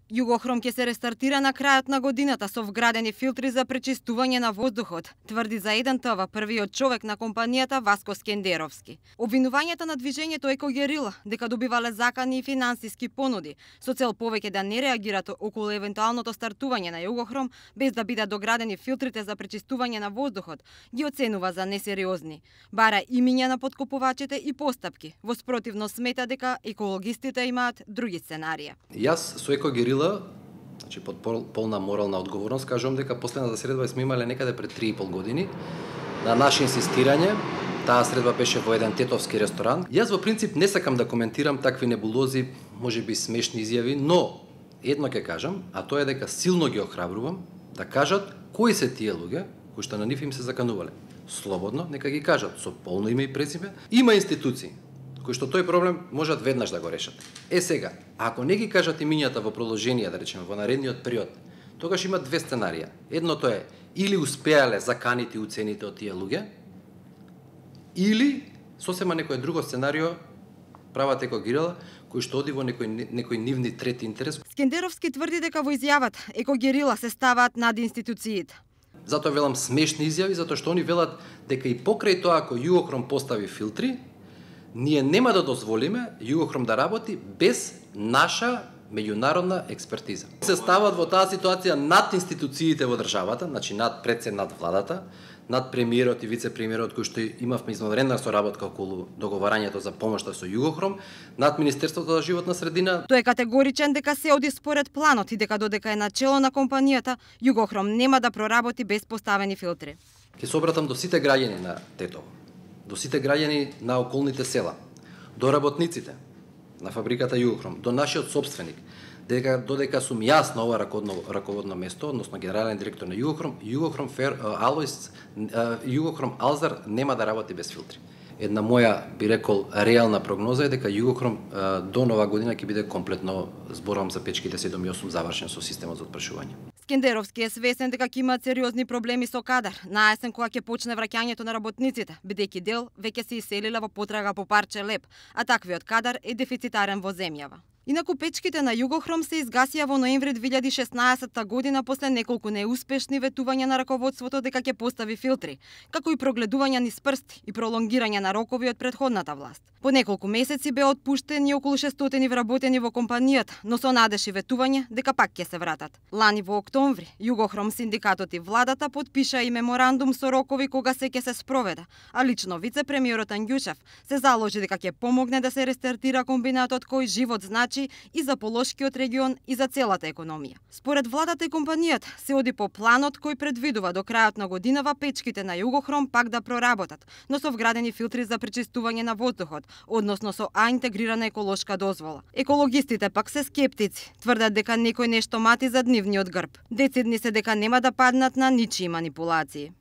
Југохром ќе се рестартира на крајот на годината со вградени филтри за пречистување на воздухот, тврди за 1ТВ првиот човек на компанијата Васко Скендеровски. Обвинувањата на движењето Екогерила дека добивале закани и финансиски понуди со цел повеќе да не реагираат околу евентуалното стартување на Југохром без да бидат доградени филтрите за пречистување на воздухот, ги оценува за несериозни. Бара имиња на подкупувачите и постапки. Во спротивно смета дека екологистите имаат други сценарија. Јас со Екогерила, значи под полна морална одговорност, кажувам дека последната средба сме имале некаде пред 3,5 години. На наше инсистирање, таа средба беше во еден тетовски ресторан. Јас во принцип не сакам да коментирам такви небулози, можеби смешни изјави, но едно ќе кажам, а тоа е дека силно ги охрабрувам да кажат кои се тие луѓе кои што на нив им се заканувале. Слободно, нека ги кажат со полно име и презиме. Има институции кои што тој проблем можат веднаш да го решат. Сега, ако не ги кажат имињата во продолжение, да речеме, во наредниот период, тогаш има две сценарија. Едното е или успеале заканите и уцените од тие луѓе, или сосема некој друго сценарио прават Екогерила, кој што оди во некој нивни трети интерес. Скендеровски тврди дека во изјавата Екогерила се ставаат над институциите. Затоа велам смешни изјави, затоа што они велат дека и покрај тоа ако Југохром постави филтри, ние нема да дозволиме Југохром да работи без наша меѓународна експертиза. Се стават во таа ситуација над институциите во државата, значи над владата, над премиерот и вице-премиерот кој што имавме извонредна соработка околу договарањето за помошта со Југохром, над Министерството за животна средина. Тој е категоричен дека се оди според планот и дека додека е на чело на компанијата, Југохром нема да проработи без поставени филтри. Ќе се обратам до сите граѓани на Тетово, до сите граѓани на околните села, до работниците на фабриката Југохром, до нашиот собственик, додека сум јас на ова раководно место, односно генерален директор на Југохром, Југохром Алзар нема да работи без филтри. Една моја, би рекол, реална прогноза е дека Југохром до нова година ќе биде комплетно, зборувам за печките 7 и 8, завршен со системот за отпрашување. Скендеровски е свесен дека ќе имаат сериозни проблеми со кадар на есен кога ќе почне враќањето на работниците, бидејќи дел веќе се иселиле во потрага по парче леп, а таквиот кадар е дефицитарен во земјава. Инаку печките на Југохром се изгасија во ноември 2016 година после неколку неуспешни ветувања на раководството дека ќе постави филтри, како и прогледувања низ прсти и пролонгирање на рокови од претходната власт. По неколку месеци беа отпуштени околу 600 вработени во компанијата, но со надеж и ветување дека пак ќе се вратат. Лани во октомври, Југохром синдикатот и владата потпиша и меморандум со рокови кога се ќе се спроведе, а лично вице-премиерот Ангјушев се заложи дека ќе помогне да се рестартира комбинатот кој живот значи и за Полошкиот регион и за целата економија. Според владата и компанијата се оди по планот кој предвидува до крајот на годинава печките на Југохром пак да проработат, но со вградени филтри за пречистување на воздухот, односно со интегрирана еколошка дозвола. Екологистите пак се скептици, тврдат дека некој нешто мати зад нивниот грб. Децидни се дека нема да паднат на ничии манипулации.